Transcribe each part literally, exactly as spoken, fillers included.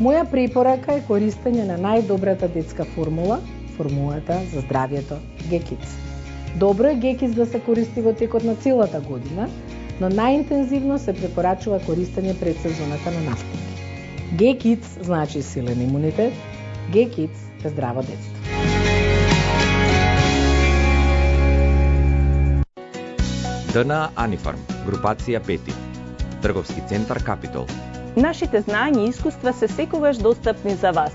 Моја препорака е користење на најдобрата детска формула, формулата за здравјето G Kids. Добро е G Kids да се користи во текот на целата година, но најинтензивно се препорачува користење пред сезоната на настапи. G Kids значи силен имунитет, G Kids е здраво детство. Д Н А Анифарм, групација пети, трговски центар Капитол. Нашите знаења и искуства се секогаш достапни за вас.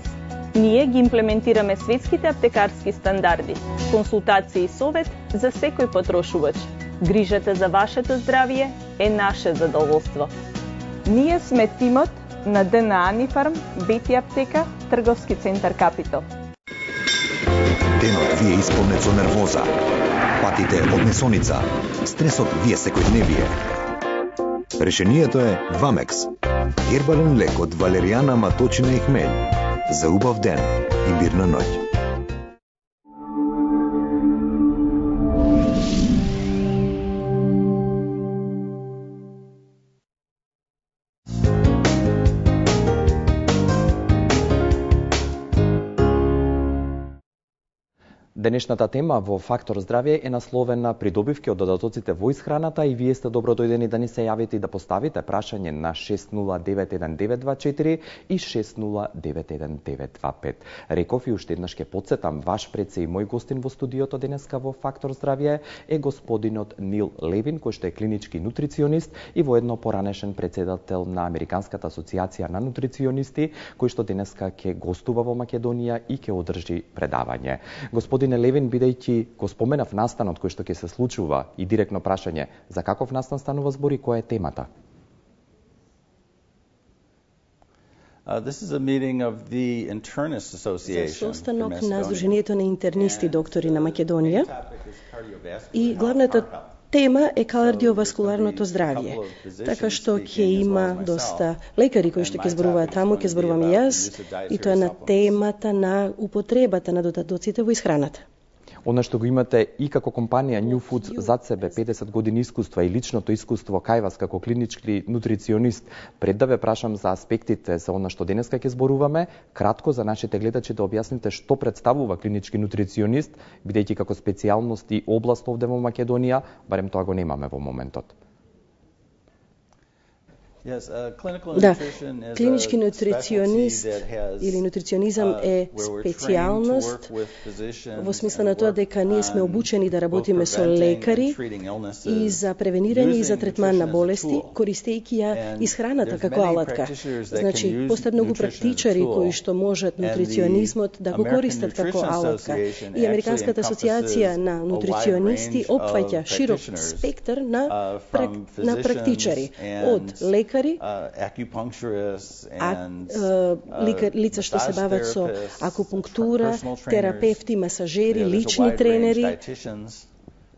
Ние ги имплементираме светските аптекарски стандарди, консултација и совет за секој потрошувач. Грижата за вашето здравје е наше задоволство. Ние сме тимот на Д Н А Анифарм, Бети аптека, трговски центар Капитол. Денот ви е исполнет со нервоза. Патите од несоница. Стресот ви е секојдневие. Решението е Вамекс. Гербален лек од валеријана, маточина и хмелј. За убав ден и мирна ноќ. Денешната тема во Фактор здравје е насловена придобивки од додатоците во исхраната и вие сте добро дојдени да ни се јавите и да поставите прашање на шест нула девет еден девет два четири и шест нула девет еден девет два пет. Реков и уште еднаш ќе потсетам, ваш пред се и мој гостин во студиото денеска во Фактор здравје е господинот Нил Левин, кој што е клинички нутриционист и воедно поранешен председател на Американската асоциација на нутриционисти, кој што денеска ќе гостува во Македонија и ќе одржи предавање. Господине Левин, бидејќи го споменав настанот кој што ќе се случува и директно прашање, за каков настан станува збори, која е темата? Uh, this is a meeting of the Internists Association. За состанок на Сдруженијето на интернисти доктори на Македонија и главната тема е кардиоваскуларното здравје, така што ќе има доста лекари кои што ќе зборуваат таму, ќе зборувам и јас, и тоа е на темата на употребата на додатоците во исхраната. Она што го имате и како компанија New Foods зад себе педесет години искуства и личното искуство кај вас како клинички нутриционист, пред да ве прашам за аспектите за она што денеска ќе зборуваме, кратко за нашите гледачи да објасните што представува клинички нутриционист, бидејќи како специјалност и област овде во Македонија, барем тоа го немаме во моментот. Да, клинички нутриционист или нутриционизам е специјалност во смисла на тоа дека ние сме обучени да работиме со лекари и за превенирање и за третман на болести, користејќи ја исхраната како алатка. Значи, постојат многу практичари кои што можат нутриционизмот да го користат како алатка. И Американската асоциација на нутриционисти опфаќа широк спектар на, прак... на практичари, од лекари, Uh, acupuncturists and uh, лица што се бават со акупунктура, терапевти, масажери, лични тренери,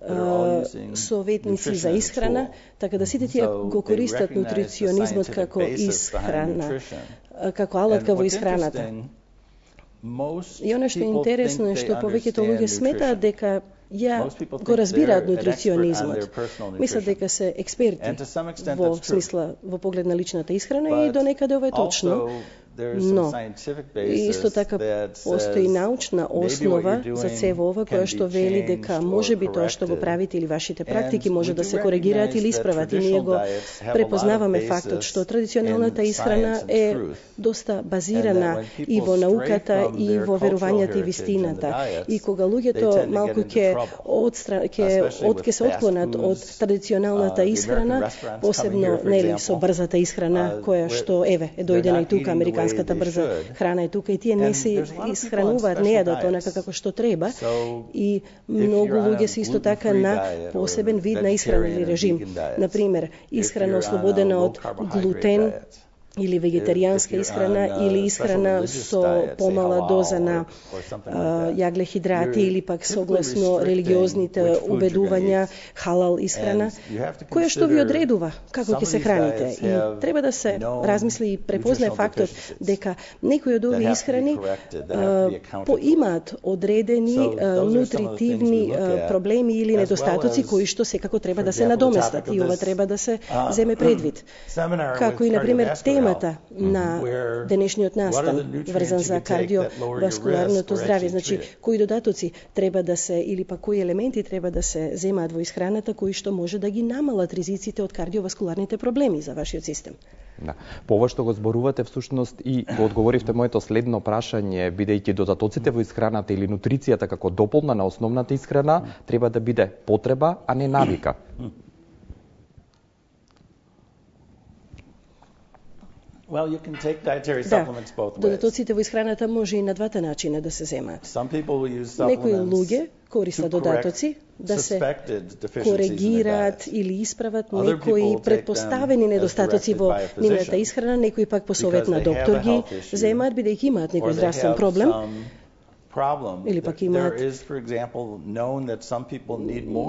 uh, советници за исхрана, така да сите тие го користат нутриционизмот како исхрана, како алатка во исхраната. И оно што е интересно е што повеќето луѓе сметаат дека ја го разбираат нутриционизмот. Мислат дека се експерти во смисла, во поглед на личната исхрана и до некаде ова е точно. Но, исто така постои научна основа за цево ова, која што вели дека може би тоа што го правите или вашите практики може да се коригираат или исправат. И ние го препознаваме фактот што традиционалната исхрана е доста базирана и во науката и во верувањата и вистината. И кога луѓето малку ќе ќе од ќе се отклонат од традиционалната исхрана, посебно нели со брзата исхрана која што еве е дојдена и тука американска брза храна е тука и тие не се исхрануваат, не јадат онака како што треба и многу луѓе се исто така на посебен вид на исхрана или режим. Например, исхрана ослободена од глутен, или вегетаријанска исхрана или исхрана со помала доза на а, јаглехидрати или пак согласно религиозните убедувања халал исхрана, која што ви одредува како ќе се храните. И треба да се размисли и препознае фактот дека некои од овие исхрани а, по имаат одредени а, нутритивни а, проблеми или недостатоци кои што секако треба да се надоместат и ова треба да се земе предвид. Како и на пример тема темата на денешниот настан врзан за кардиоваскуларното здравје. Значи, кои додатоци треба да се или па кои елементи треба да се земаат во исхраната кои што може да ги намалат ризиците од кардиоваскуларните проблеми за вашиот систем. Да. По ова што го зборувате всушност и го одговоривте моето следно прашање, бидејќи додатоците во исхраната или нутрицијата како дополна на основната исхрана треба да биде потреба, а не навика. Well, you can take dietary supplements both ways. Додатоците во исхраната може и на двата начина да се земаат. Некои луѓе користат додатоци да се коригираат или исправат некои предпоставени недостатоци во нивната исхрана, некои пак по совет на доктор ги земаат бидејќи имаат некој здравствен проблем. Или пак имаат,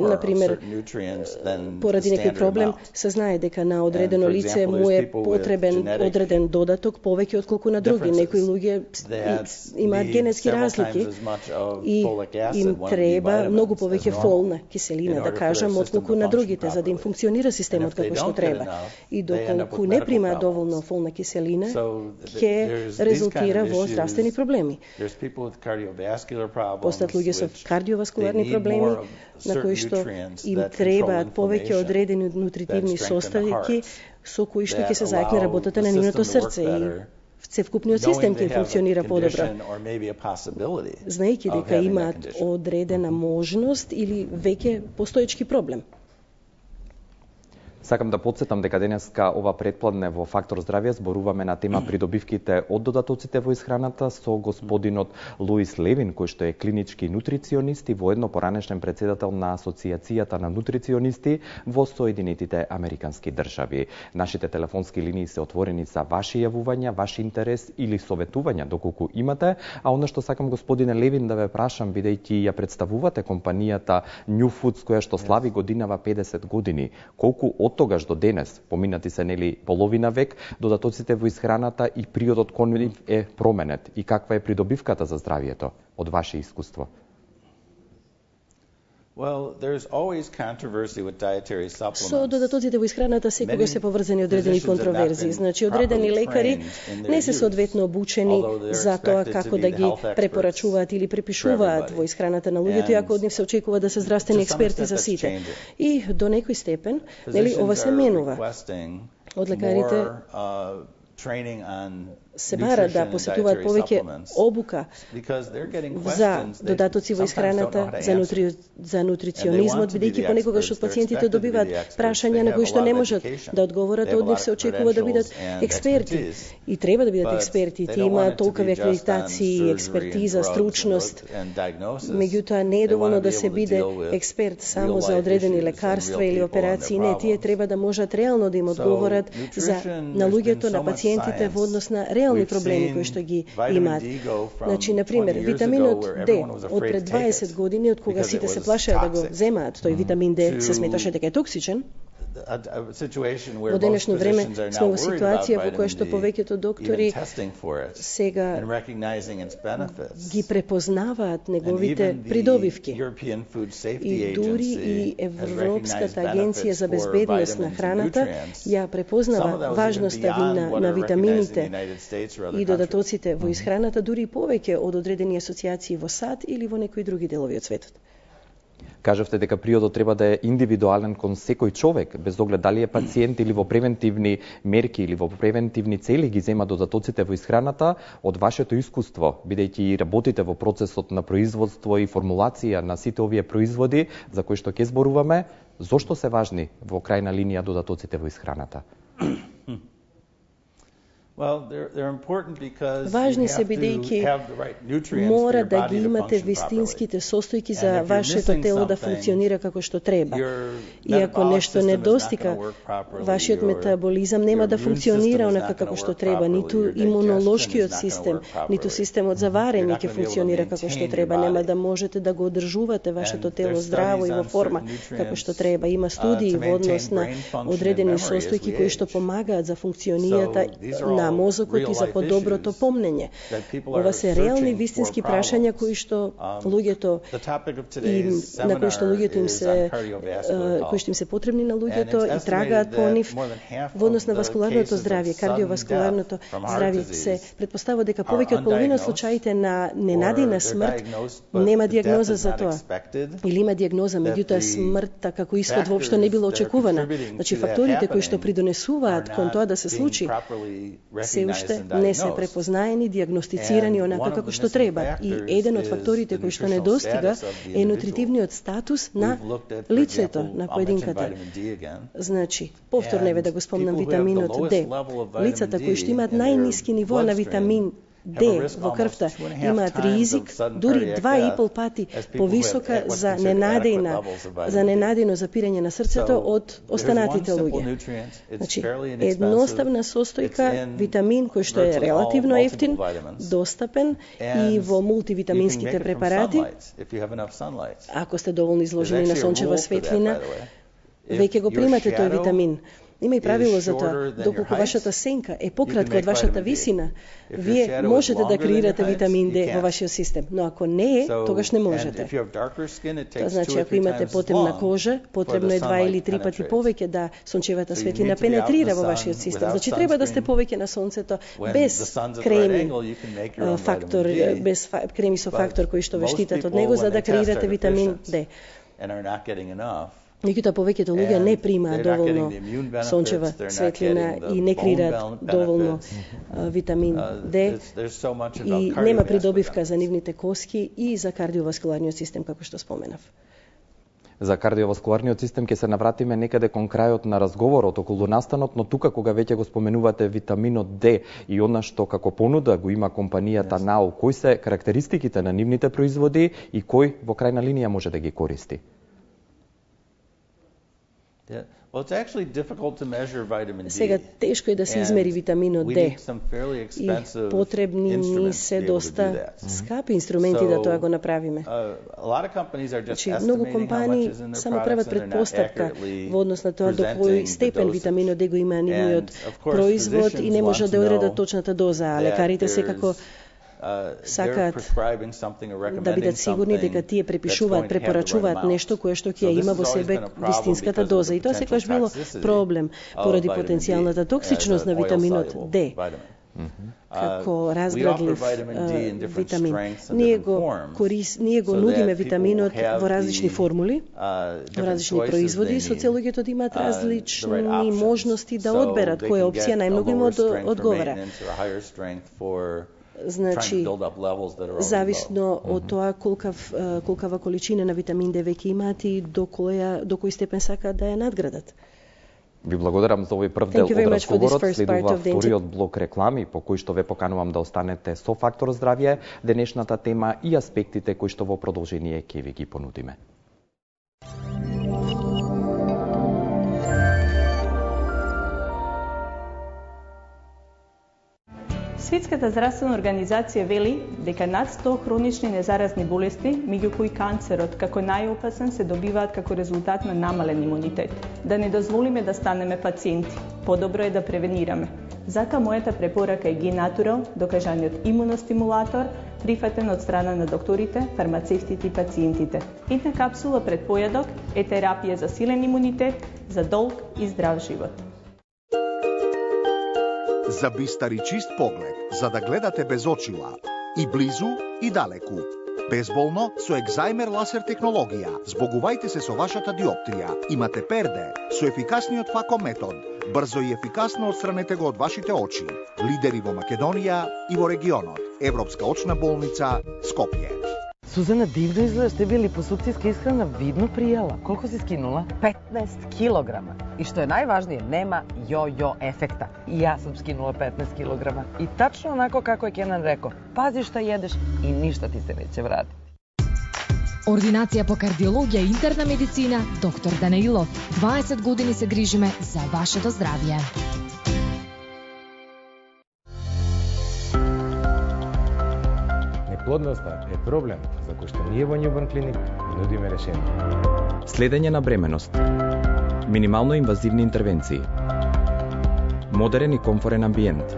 например, поради некој проблем, се знае дека на одредено лице му е потребен одреден додаток повеќе отколку на други. Некои луѓе имаат генетски разлики и им треба многу повеќе фолна киселина, да кажам, отколку на другите, за да им функционира системот како што треба. И доколку не примаат доволно фолна киселина, ќе резултира во здравствени проблеми. Постат луѓе со кардиоваскуларни проблеми, на кои што им требаат повеќе одредени нутритивни составки со кои што ќе се зајакне работата на нивното срце и цевкупниот систем ќе функционира подобро. Знаејќи дека имаат одредена можност или веќе постоечки проблем. Сакам да подсетам дека денеска ова предпладне во Фактор здравје зборуваме на тема придобивките од додатоците во исхраната со господинот Луис Левин, кој што е клинички нутриционист и воедно поранешен председател на Асоцијацијата на нутриционисти во Соединетите Американски држави. Нашите телефонски линии се отворени за ваши јавувања, ваш интерес или советувања доколку имате, а она што сакам господине Левин да ве прашам, бидејќи ја представувате компанијата New Foods која што слави годинава педесет години, колку од тогаш до денес, поминати се нели половина век, додатоците во исхраната и приодот кон нив е променет и каква е придобивката за здравието од ваше искуство? Well, there's always controversy with dietary supplements. Со додатоците во исхраната секогаш се поврзани одредени контроверзии. Значи, одредени лекари не се соодветно обучени за тоа како да ги препорачуваат или препишуваат во исхраната на луѓето, иако од нив се очекува да се здравствени експерти за сите. И до некој степен, нели, ова се менува. Од лекарите се бара да посетуваат повеќе обука за додатоци во исхраната, за, нутри... за нутриционизмот, бидејќи понекогаш од пациентите добиваат прашања на кои што не можат да одговорат, од нив се очекува да бидат експерти. И треба да бидат експерти, тие имаат толкови акредитации, експертиза, стручност. Меѓутоа не е доволно да се биде експерт само за одредени лекарства или операции, не, тие треба да можат реално да им одговорат за на луѓето, на пациентите во однос на реални проблеми кои што ги имаат. Значи, на пример, витаминот Д од пред дваесет години, од кога сите се плашеа да го земаат, тој витамин Д се сметаше дека е токсичен. Во денешно време сме во ситуација во која што повеќето доктори сега ги препознаваат неговите придобивки. И дури и Европската агенција за безбедност на храната ја препознава важноста на, на витамините и додатоците во исхраната, дури и повеќе од одредени асоциации во САД или во некои други делови од светот. Кажавте дека приодот треба да е индивидуален кон секој човек, без оглед дали е пациент или во превентивни мерки или во превентивни цели ги зема додатоците во исхраната. Од вашето искуство, бидејќи работите во процесот на производство и формулација на сите овие производи за кои што ќе зборуваме, зошто се важни во крајна линија додатоците во исхраната? Важни се бидејќи мора да ги имате вистинските состојки за вашето тело да функционира како што треба. И ако нешто недостига, вашиот метаболизам нема да функционира онака како што треба, ниту имунолошкиот систем, ниту системот за варење ќе функционира како што треба, нема да можете да го одржувате вашето тело здраво и во форма како што треба. Има студии во однос на одредени состојки кои што помагаат за функционијата на за мозокот и за подоброто помнење. Ова се реални вистински прашања кои што луѓето и на кои што луѓето им се кои што им се потребни на луѓето и трагаат по нив. Во однос на васкуларното здравје, кардиоваскуларното здравје, се претпоставува дека повеќе од половина од случаите на ненадејна смрт нема дијагноза за тоа. Или има дијагноза, меѓутоа смртта како ишход воопшто не била очекувана. Значи факторите кои што придонесуваат кон тоа да се случи се уште не се препознаени, дијагностицирани онака како што треба. И еден од факторите кои што не достига е нутритивниот статус на лицето, на поединката. Значи, повторно еве да го спомнам витаминот Д. Лицата кои што имаат најниски ниво на витамин Д во крвта имаат ризик дури два и пол пати повисока за ненадејна за ненадејно запирање на срцето од останатите луѓе. Значи, едноставна состојка витамин кој што е релативно ефтин, достапен и во мултивитаминските препарати. Ако сте доволно изложени на сончева светлина, веќе го примате тој витамин. Има и правило за тоа. Доколку вашата сенка е пократка од вашата висина, вие можете да креирате витамин Д во вашиот систем, но ако не е, тогаш не можете. Тоа значи, ако имате потемна кожа, потребно е два или три пати повеќе да сончевата светлина пенетрира во вашиот систем. Значи, треба да сте повеќе на сонцето без креми фактор, без креми со фактор кои што ве штитат од него за да креирате витамин Д. Меѓутоа повеќето луѓе не примаат доволно сончева светлина и не креираат доволно витамин Д и нема придобивка за нивните коски и за кардиоваскуларниот систем, како што споменав. За кардиоваскуларниот систем ќе се навратиме некаде кон крајот на разговорот околу настанот, но тука кога веќе го споменувате витаминот Д и она што како понуда го има компанијата НАУ, кои се карактеристиките на нивните производи и кој во крајна линија може да ги користи? Сега тешко е да се измери витаминот Д и потребни ни се доста скапи инструменти да тоа го направиме. Значи, многу компании само прават предпоставка во однос на тоа до кој степен витаминот Д го има нивниот производ и не може да одредат точната доза, а лекарите секако сакаат да бидат сигурни дека тие препишуваат, препорачуваат нешто кое што ќе има во себе вистинската доза. И тоа секогаш било проблем поради потенцијалната токсичност на витаминот Д како разградлив витамин. Ние го, корис, ние го нудиме витаминот во различни формули, во различни производи, со цел луѓето да имаат различни можности да одберат која опција најмногу им одговара. Значи, зависно од тоа колкав, колкава количина на витамин Д веќе имаат и до која до кој степен сакаат да ја надградат. Ви благодарам за овој прв дел од разговорот. Следува вториот блок реклами по кој што ве поканувам да останете со Фактор здравје, денешната тема и аспектите кои што во продолжение ќе ви ги понудиме. Светската здравствена организација вели дека над сто хронични незаразни болести, меѓу кои канцерот како најопасен, се добиваат како резултат на намален имунитет. Да не дозволиме да станеме пациенти. Подобро е да превенираме. Затоа мојата препорака е Г-Натурал, докажаниот имуностимулатор, прифатен од страна на докторите, фармацевтите и пациентите. Една капсула пред појадок е терапија за силен имунитет, за долг и здрав живот. За бистар и чист поглед, за да гледате без очила, и близу, и далеку. Безболно со екзајмер ласер технологија. Збогувајте се со вашата диоптрија. Имате перде со ефикасниот фако метод. Брзо и ефикасно отстранете го од вашите очи. Лидери во Македонија и во регионот. Европска очна болница Скопје. Сузана, дивно изгледаш, те били по сукцијска исхрана видно пријела. Колку си скинула? петнаесет килограма. И што е најважнije, нема јо-јо ефекта. И јас сум скинула петнаесет килограма. И тачно онако како е Кенан реко, пази што једеш и ништа ти се неќе врати. Ординација по кардиологија и интерна медицина, доктор Данаилов. дваесет години се грижиме за вашето здравје. Неплодноста е проблем за кој што ние во Newborn Clinic нудиме решение. Следење на бременост. Минимално инвазивни интервенции. Модерен и комфорен амбиент.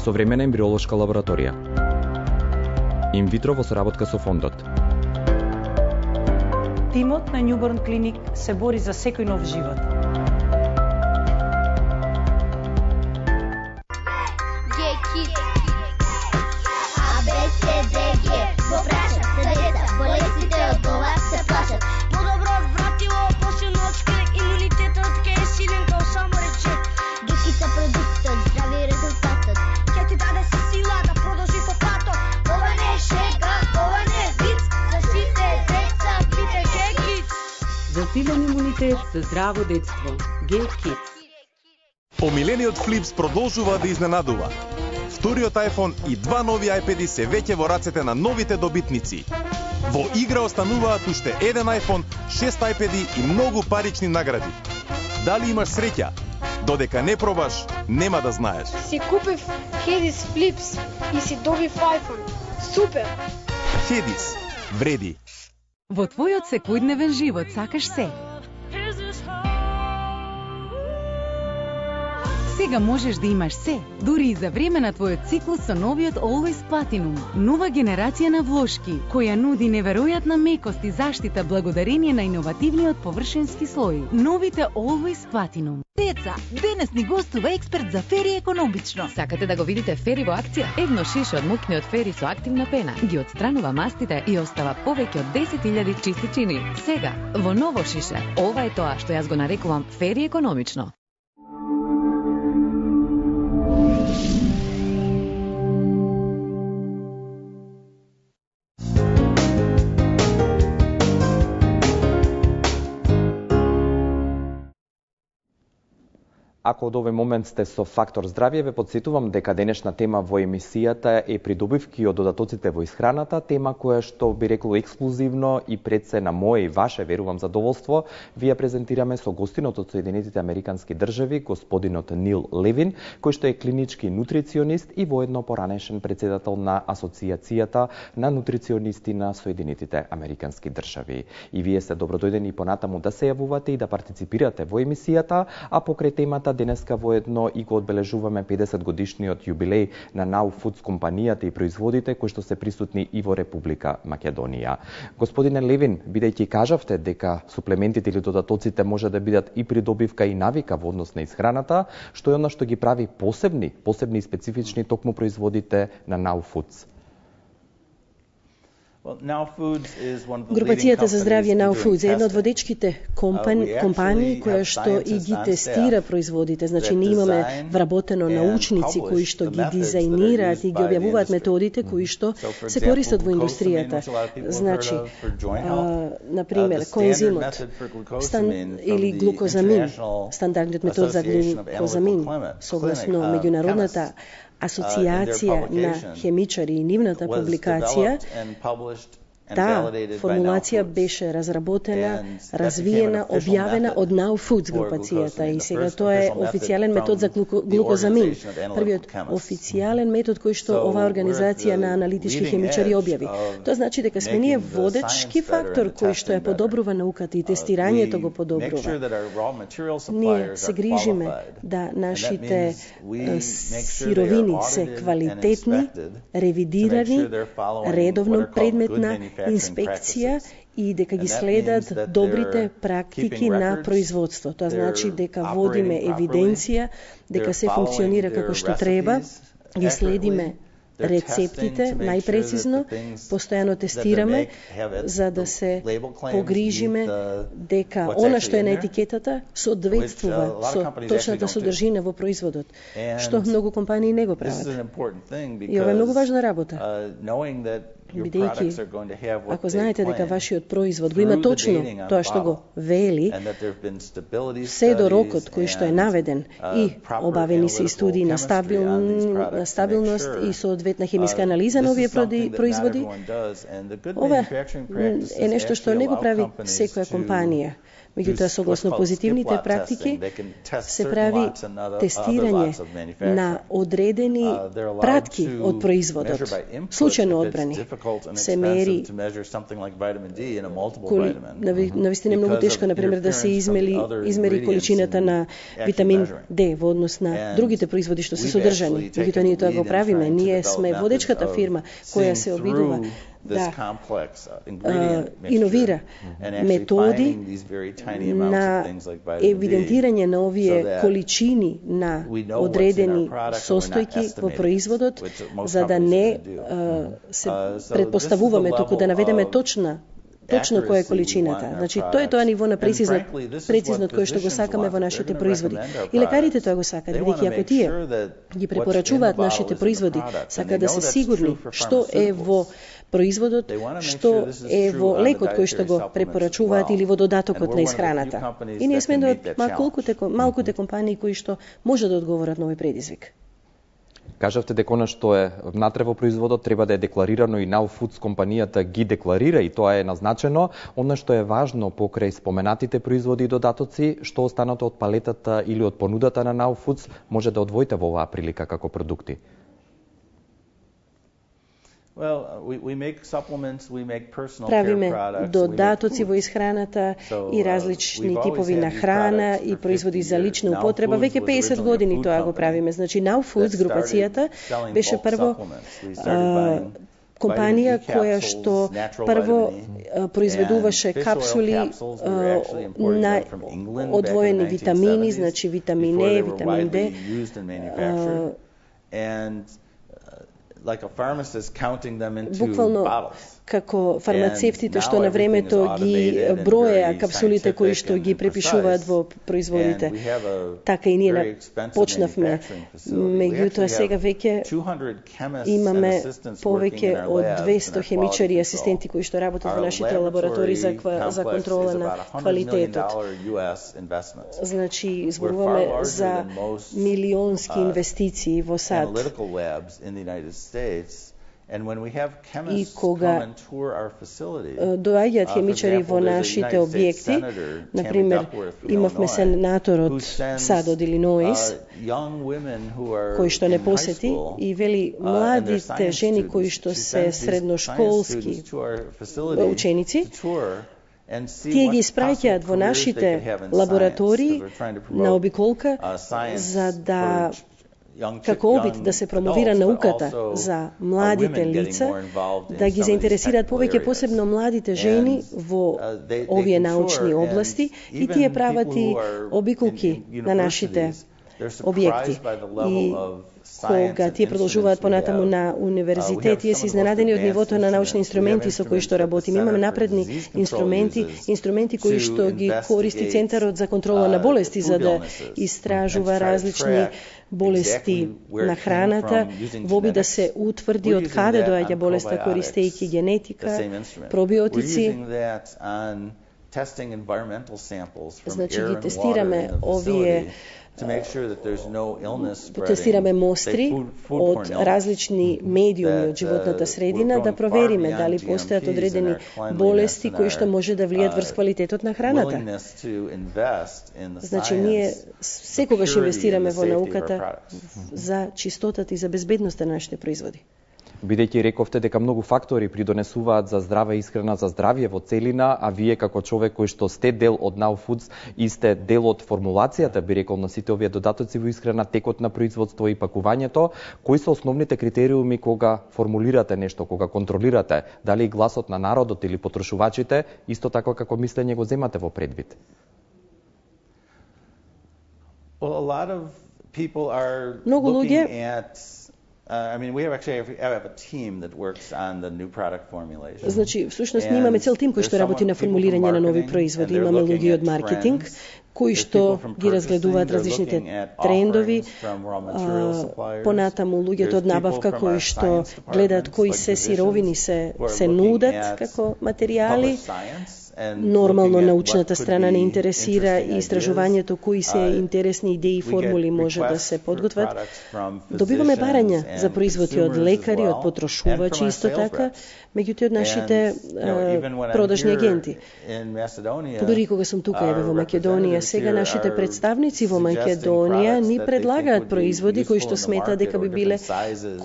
Современа ембриолошка лабораторија. Инвитро во соработка со фондот. Тимот на Newborn Clinic се бори за секој нов живот. Засилен имунитет за здраво детство. G-Kids. Помилениот Флипс продолжува да изненадува. Вториот iPhone и два нови iPad-и се веќе во рацете на новите добитници. Во игра остануваат уште еден iPhone, шест iPad-и и многу парични награди. Дали имаш среќа? Додека не пробаш, нема да знаеш. Си купив Хедис Флипс и си добив iPhone. Супер! Хедис. Вреди. Во твојот секојдневен живот сакаш се. Сега можеш да имаш се, дури и за време на твојот циклус со новиот Always Platinum. Нова генерација на влошки, која нуди неверојатна мекост и заштита благодарение на иновативниот површински слој. Новите Always Platinum. Деца, денес ни гостува експерт за фери економично. Сакате да го видите фери во акција? Едно шише од мукниот фери со активна пена ги отстранува мастите и остава повеќе од десет илјади чистичини. Сега, во ново шише. Ова е тоа што јас го нарекувам фери економично. Ако од овој момент сте со Фактор здравје, ве потсетувам дека денешна тема во емисијата е придобивки од додатоците во исхраната, тема која што би рекло ексклузивно и пред се на моје и ваше, верувам, задоволство, ви ја презентираме со гостинот од Соединетите Американски држави, господинот Нил Левин, кој што е клинички нутриционист и воедно поранешен председател на Асоциацијата на нутриционисти на Соединетите Американски држави. И вие се добродојдени понатаму да се јавувате и да партиципирате во емисијата, а покрај темата денеска воедно и го одбележуваме педесет годишниот јубилеј на Now Foods компанијата и производите кои што се присутни и во Република Македонија. Господине Левин, бидејќи кажавте дека суплементите или додатоците може да бидат и придобивка и навика во однос на исхраната, што е она што ги прави посебни, посебни и специфични токму производите на Now Foods? Групацијата за здравје Now Foods е една од водечките компани, компании која што и ги тестира производите. Значи, ние имаме вработено научници кои што ги дизајнираат и ги објавуваат методите кои што се користат во индустријата. Значи, а, например, коензимот стан, или глукозамин, стандардниот метод за глукозамин, согласно меѓународната Асоциација на хемичари и нивната публикација, таа формулација беше разработена, развиена, објавена од Now Foods групацијата и сега тоа е официјален метод за глукозамин. Првиот официјален метод кој што оваа организација на аналитички хемичари објави. Тоа значи дека сме ние водечки фактор кој што ја подобрува науката и тестирањето го подобрува. Ние се грижиме да нашите сировини се квалитетни, ревидирани, редовно предмет на инспекција и дека ги следат добрите практики на производство. Тоа значи дека водиме евиденција, дека се функционира како што треба, ги следиме рецептите најпрецизно, постојано тестираме за да се погрижиме дека она што е на етикетата соодветствува со точната содржина во производот, што многу компании не го прават. И ова е многу важна работа. Бидејќи, ако знаете дека вашиот производ го има точно тоа што го вели, се до рокот кој што е наведен и обавени се и студии на, стабил, на стабилност и соодветна хемиска анализа на овие производи, ова е нешто што не го прави секоја компанија. Меѓутоа, согласно позитивните практики, се прави тестирање на одредени пратки од производот, случајно одбрани. Се мери коли, навистина е многу тешко, например, да се измери, измери количината на витамин Д во однос на другите производи што се содржани. Меѓутоа, ние тоа го правиме. Ние сме водечката фирма која се обидува да uh, иновира методи на евидентирање на овие количини на одредени состојки во производот, за да не uh, се предпоставуваме, туку да наведеме точна точно која е количината. Значи, тоа е тоа ниво на прецизно, прецизно кој што го сакаме во нашите производи. И лекарите тоа го сакаат, бидејќи ако тие ги препорачуваат нашите производи, сакаат да се сигурни што е во производот, што е во лекот кој што го препорачуваат или во додатокот на исхраната. И ние сме од малкуте, малкуте компании кои што може да одговорат на овој предизвик. Кажавте дека она што е внатре во производот треба да е декларирано и Now Foods компанијата ги декларира и тоа е назначено. Она што е важно покрај споменатите производи и додатоци, што останато од палетата или од понудата на Now Foods може да одвоите во оваа прилика како продукти? Правиме додатоци во исхраната и различни типови на храна и производи за лична употреба. Веќе песет години тоа го правиме. Значи, Now Foods групацијата беше прво а, компанија која што прво а, произведуваше капсули а, на одвоени витамини, значи витамин Е, витамин Д, like a pharmacist counting them into буквално bottles. Како фармацевтите што на времето ги броеа капсулите кои што ги препишуваат во производите. Така и ние почнавме. Меѓутоа сега веќе имаме повеќе од двесто хемичари и асистенти кои што работат во нашите лаборатории за, за контрола на квалитетот. Значи, зборуваме за милионски инвестиции во САД. И кога доаѓаат хемичари во нашите објекти, например, имавме сенатор од САД од Илиноис, кој што не посети и вели младите жени кои што се средношколски ученици, тие ги испраќаат во нашите лаборатории на обиколка за да како обид да се промовира науката за младите лица, да ги заинтересираат повеќе посебно младите жени во овие научни области и тие прават и обиколки на нашите објекти. И кога тие продолжуваат понатаму на универзитет, тие се изненадени од нивото на научни инструменти со кои што работиме. Имаме напредни инструменти, инструменти кои што ги користи Центарот за контрола на болести за да истражува различни болести на храната, во обид да се утврди од каде доаѓа болеста користејќи генетика, пробиотици. Значи ги тестираме овие тестираме мостри од различни медиуми од животната средина да провериме дали постојат одредени болести кои што може да влијат врз квалитетот на храната. Значи ние секогаш инвестираме во науката за чистотата и за безбедноста на нашите производи. Бидејќи рековте дека многу фактори придонесуваат за здрава исхрана, за здравје во целина, а вие како човек кој што сте дел од Now Foods и сте дел од формулацијата, би рекол, на сите овие додатоци во исхрана, текот на производство и пакувањето, кои се основните критериуми кога формулирате нешто, кога контролирате, дали гласот на народот или потрошувачите, исто така како мислење го земате во предвид? Многу луѓе Uh, I mean, we have actually have a team that works on the new product formulation. Значи, всушност ние имаме цел тим кој што работи на формулирање на нови производи. Имаме луѓе од маркетинг кои што ги разгледуваат различните трендови, понатаму луѓето од набавка кои што гледаат кои се сировини се се нудат како материјали, нормално научната страна не интересира и истражувањето кои се интересни идеи и формули може да се подготват, добиваме барања за производи од лекари, од потрошувачи исто така, меѓутоа од нашите uh, продажни агенти. Дори кога сум тука еве во Македонија, сега нашите представници во Македонија ни предлагаат производи кои што сметаат дека би биле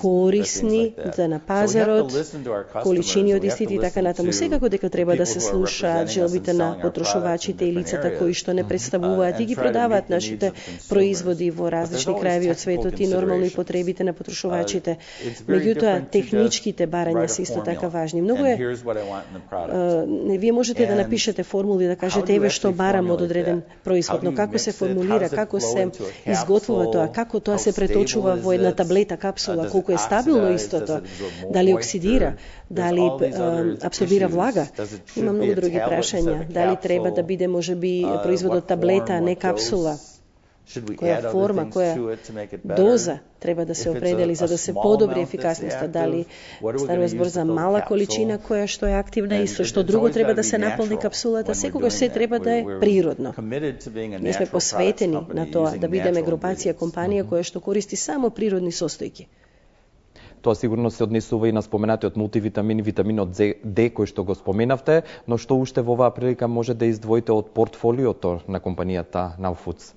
корисни за на пазарот, количини од истите и така натаму. Секако дека треба да се слушаат желбите на потрошувачите и лицата кои што не представуваат и ги продаваат нашите производи во различни краеви од светот и нормално и потребите на потрошувачите. Меѓутоа, техничките барања се исто така важни. Многу е, не, вие можете да напишете формули, да кажете еве што барам од одреден производ, но како се формулира, како се изготвува тоа, како тоа се преточува во една таблета, капсула, колку е стабилно истото, дали оксидира, дали uh, абсорбира влага. Има многу други прашања. Дали треба да биде можеби производот таблета, а не капсула? Која форма, која доза треба да се определи за да се подобри ефикасноста, дали станува збор за мала количина која што е активна и со што друго треба да се наполни капсулата, секогаш се треба да е природно. Ние сме посветени на тоа да бидеме групација компанија која што користи само природни состојки. Тоа сигурно се однесува и на споменатиот мултивитамин, витаминот Д кој што го споменавте, но што уште во оваа прилика може да издвоите од портфолиото на компанијата Now Foods?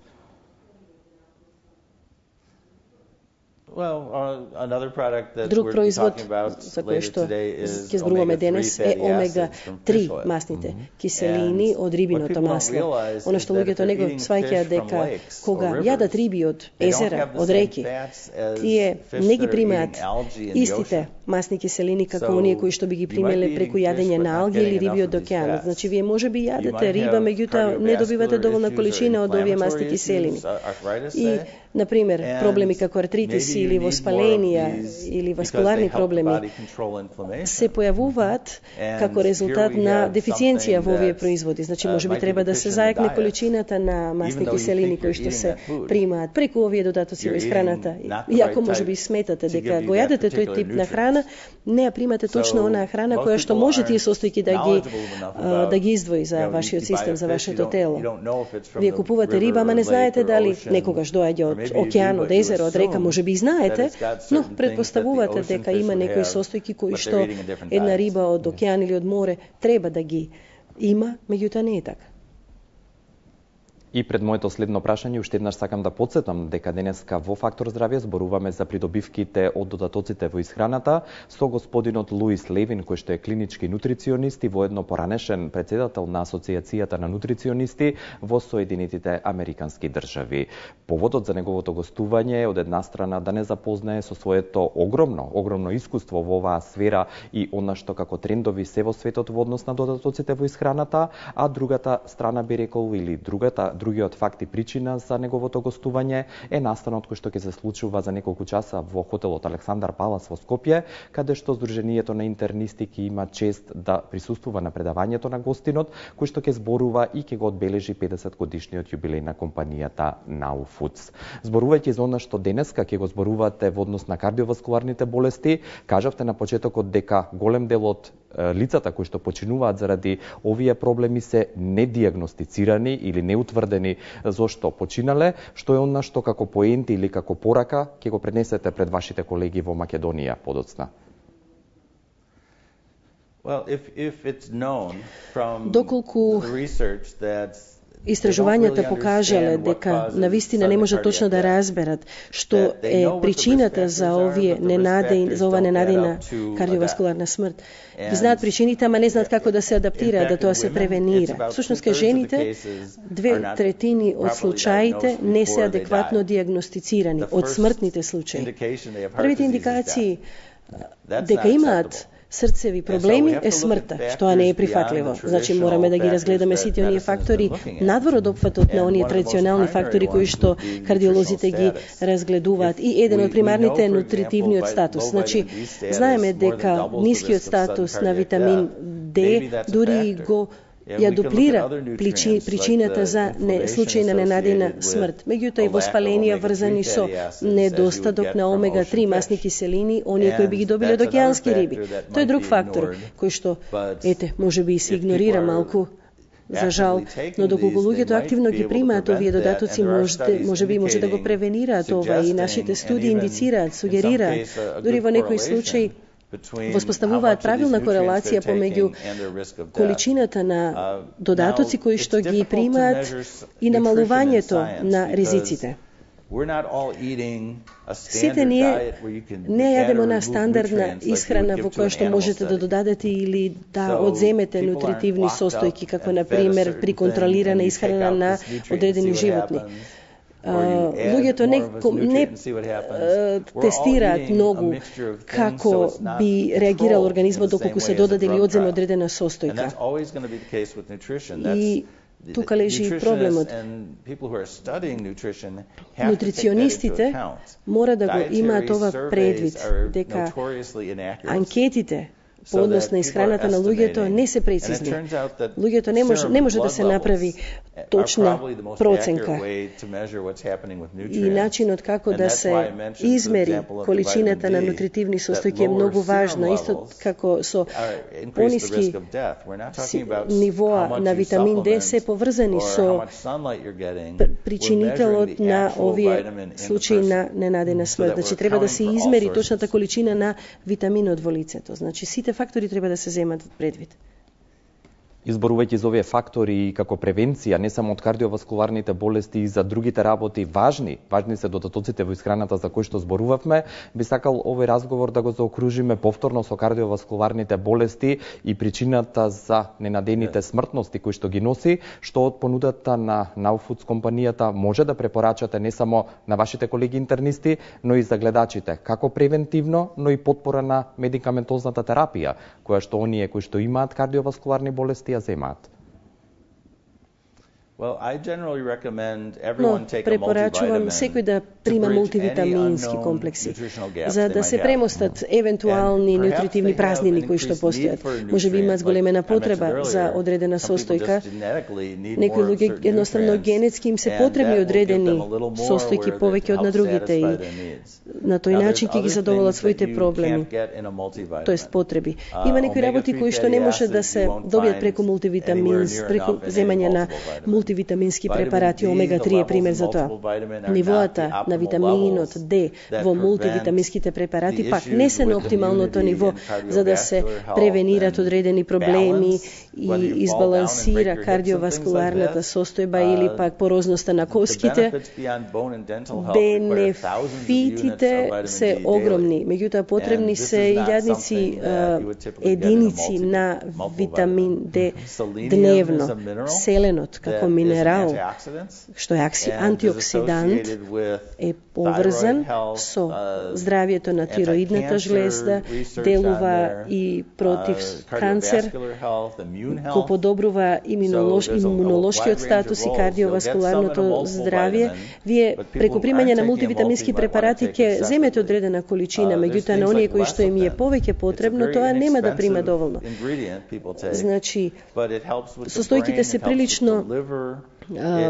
Друг производ за кој што ќе зборуваме денес е омега три масните киселини од рибиното масло. Оно што луѓето не го сваќаат дека кога јадат риби од езера, од реки, тие не ги примаат истите масни киселини како оние кои што би ги примеле преку јадење на алги или риби од океанот. Значи вие можеби јадете риба, меѓутоа не добивате доволна количина од овие масни киселини. И на пример, проблеми како артритис или воспаленија или васкуларни проблеми се појавуваат како резултат на дефициенција во овие производи. Значи, можеби треба да се заекне количината на масни киселини кои што се примаат преку овие додатоци во исхраната. Иако можеби сметате дека го јадете тој тип на храна, не ја примате точно онаа храна која што може тие состојки да ги да ги издвои за вашиот систем, за вашето тело. Вие купувате риба, ама не знаете дали некогаш доаѓа од океан, од езеро, од река, може би знаете, но предпоставувате дека има некои состојки кои што една риба од океан или од море треба да ги има, меѓутоа не е така. И пред моето следно прашање, уште еднаш сакам да подсетам дека денеска во Фактор здравје зборуваме за придобивките од додатоците во исхраната со господинот Луис Левин, кој што е клинички нутриционист и воедно поранешен председател на Асоциацијата на нутриционисти во Соединетите Американски држави. Поводот за неговото гостување е од една страна да не запознае со своето огромно, огромно искуство во оваа сфера и она што како трендови се во светот во однос на додатоците во исхраната, а другата страна би рекол или другата Другиот факт и причина за неговото гостување е настанот кој што ќе се случува за неколку часа во хотелот Александар Палас во Скопје, каде што Сдруженијето на интернисти ќе има чест да присуствува на предавањето на гостинот, кој што ќе зборува и ќе го одбележи педесет годишниот јубилеј на компанијата Now Foods. Зборувајќи за она што денеска ќе го зборувате во однос на кардиоваскуларните болести, кажавте на почетокот дека голем дел од лицата кои што починуваат заради овие проблеми се недиагностицирани или неутврдени зошто починале, што е она што како поенти или како порака ќе го пренесете пред вашите колеги во Македонија подоцна? Well, if, if it's known from Доколку the research that истражувањата покажале дека навистина не може точно да разберат што е причината за овие ненадејни за ова ненадејна кардиоваскуларна смрт. Ги знаат причините, ама не знаат како да се адаптираат, да тоа се превенира. Всушност кај жените две третини од случаите не се адекватно диагностицирани од смртните случаи. Првите индикации дека имаат срцеви проблеми е смртта, што не е прифатливо. Значи мораме да ги разгледаме сите оние фактори надвор од опфатот на оние традиционални фактори кои што кардиолозите ги разгледуваат. И еден од примарните е нутритивниот статус. Значи знаеме дека нискиот статус на витамин Д дури го ја дуплира причината за не, случај на ненадејна смрт. Меѓутоа и воспаленија врзани со недостаток на омега три масни киселини, оние кои би ги добиле од океански риби. Тој е друг фактор кој што ете можеби и се игнорира малку за жал, но доколку луѓето активно ги примаат овие додатоци, може можеби може да го превенираат ова и нашите студии индицираат, сугерираат, дури во некои случаи воспоставуваат правилна корелација помеѓу количината на додатоци кои што ги примаат и намалувањето на ризиците. Сите ние не јадемо на стандардна исхрана во која што можете да додадете или да одземете нутритивни состојки, како на пример при контролирана исхрана на одредени животни. Uh, луѓето не, не uh, тестираат многу како би реагирал организмот доколку се додаде или одземе одредена состојка. И тука лежи и проблемот. Нутриционистите мора да го имаат ова предвид, дека анкетите по однос на исхраната на луѓето не се прецизни. Луѓето не може не може да се направи точна проценка. И начинот како да се измери количината на нутритивни состојки е многу важна, исто како со пониски нивоа на витамин Д се поврзани со причинителот на овие случаи на ненадена смрт. Значи треба да се измери точната количина на витаминот во лицето. Значи сите фактори треба да се земат предвид. Изборувајќи за овие фактори и како превенција, не само од кардиоваскуларните болести и за другите работи, важни, важни се додатоците во исхраната за кои што зборувавме, би сакал овој разговор да го заокружиме повторно со кардиоваскуларните болести и причината за ненадените смртности кои што ги носи, што од понудата на Now Foods компанијата може да препорачате не само на вашите колеги интернисти, но и за гледачите, како превентивно, но и потпора на медикаментозната терапија, која што оние кои што имаат кардиоваскуларни болести ја земаат. Но препорачувам секој да прима мултивитамински комплекси, за да се премостат евентуални нутритивни празнини кои што постојат. Може би имаат големена потреба за одредена состојка. Некои луѓе едноставно генетски им се потребни одредени состојки повеќе од на другите и на тој начин ќе ги задоволат своите проблеми, тоест потреби. Има некои работи кои што не може да се добијат преку мултивитамин, преку земање на мултивитамински препарати, омега три е пример за тоа. Нивоата на витаминот Д во мултивитаминските препарати пак не се на оптималното ниво за да се превенират одредени проблеми и избалансира кардиоваскуларната состојба или пак порозноста на коските. Бенефитите се огромни, меѓутоа потребни се илјадници единици на витамин Д дневно. Селенот како минерал, што е антиоксидант, е поврзан со здравието на тироидната жлезда, делува и против канцер, го подобрува имунолошкиот статус и кардиоваскуларното здравје. Вие преку примање на мултивитамински препарати ќе земете одредена количина, меѓутоа на оние кои што им е повеќе потребно, тоа нема да прима доволно. Значи, состојките се прилично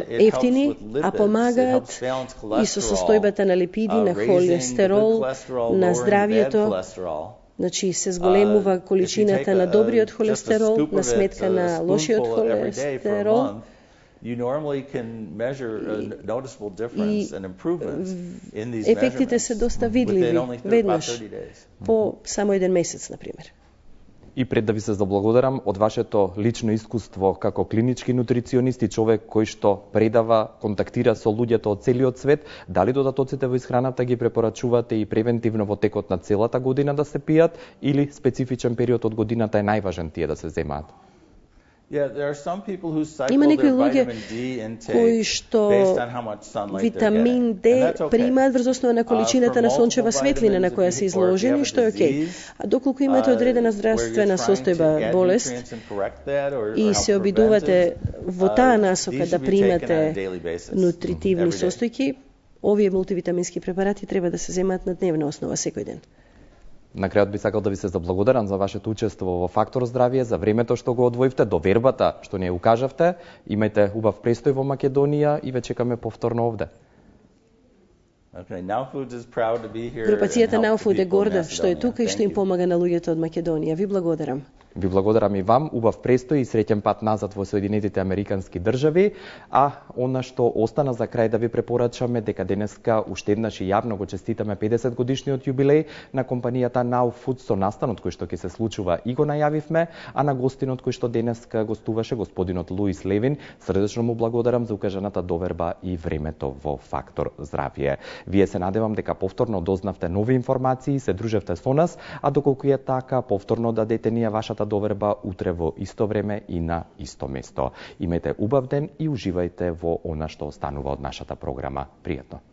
ефтини, а помагаат и со состојбата на липиди, на холестерол, на здравјето. Значи се зголемува количината на добриот холестерол на сметка на лошиот холестерол. You normally can measure a noticeable difference and improvements in these measurements. Ефектите се доста видливи веднаш по само еден месец, на пример. И пред да ви се заблагодарам од вашето лично искуство како клинички нутриционист и човек кој што предава, контактира со луѓето од целиот свет, дали додатоците во исхраната ги препорачувате и превентивно во текот на целата година да се пијат или специфичен период од годината е најважен тие да се земаат? Има некои луѓе кои што витамин Д примаат врз основа на количината на сончева светлина на која се изложени, што е окей. А доколку имате одредена здравствена состојба, болест, и се обидувате во таа насока да примате нутритивни состојки, овие мултивитамински препарати треба да се земаат на дневна основа секој ден. На крајот би сакал да ви се заблагодарам за вашето учество во Фактор здравје, за времето што го одвоивте, довербата што не укажавте. Имајте убав престој во Македонија и ве чекаме повторно овде. Групацијата Now Food е горда што е тука и што им помага на луѓето од Македонија. Ви благодарам. Ви благодарам и вам, убав престој и среќен пат назад во Соединетите Американски држави, а она што остана за крај да ви препорачаме дека денеска уште еднаш и јавно го честитаме педесет годишниот јубилеј на компанијата Now Food со настанот кој што ќе се случува и го најавивме, а на гостинот кој што денеска гостуваше господинот Луис Левин, срдечно му благодарам за укажаната доверба и времето во Фактор здравје. Вие се надевам дека повторно дознавте нови информации и се дружевте со нас, а доколку е така, повторно дадете ни вашата доверба утре во исто време и на исто место. Имете убав ден и уживајте во она што останува од нашата програма. Пријатно.